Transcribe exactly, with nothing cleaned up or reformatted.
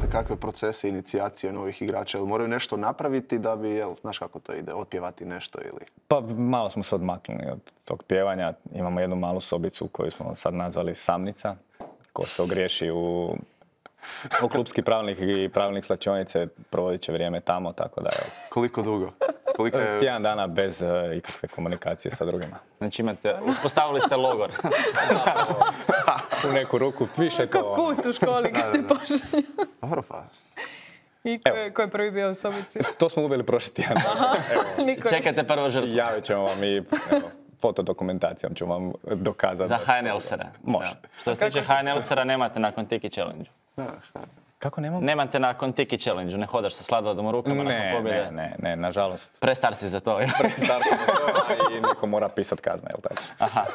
znate kakve procese inicijacije novih igrača? Jel moraju nešto napraviti da bi, jel, znaš kako to ide, otpjevati nešto ili... Pa malo smo se odmaknuli od tog pjevanja. Imamo jednu malu sobicu koju smo sad nazvali Samnica, ko se ogriješi u, u klubski pravilnik i pravilnik slačionice, provodit će vrijeme tamo, tako da evo. Koliko dugo? Koliko je... Tjedan dana bez uh, ikakve komunikacije sa drugima. Znači imate, uspostavili ste logor. U neku ruku, više to... Kao kut u školi kad te pošalju. Dobro pa. I ko je, ko je prvi bio u sobici? To smo uveli prošli tjedan. Niko Čekajte prvo žrtvu. Javit ćemo vam i evo, fotodokumentacijom ću vam dokazati. Za H N L sera. Može. Da. Što se tiče H N L sera nemate nakon Tiki Challenge. Kako nemamo? Nemate nakon Tiki Challenge, ne hodaš sa sladolom u rukama nakon Ne, pobjede. ne, ne, ne, nažalost. Prestar si za to. Prestar sam za to, a i neko mora pisat kazne, jel tako? Aha.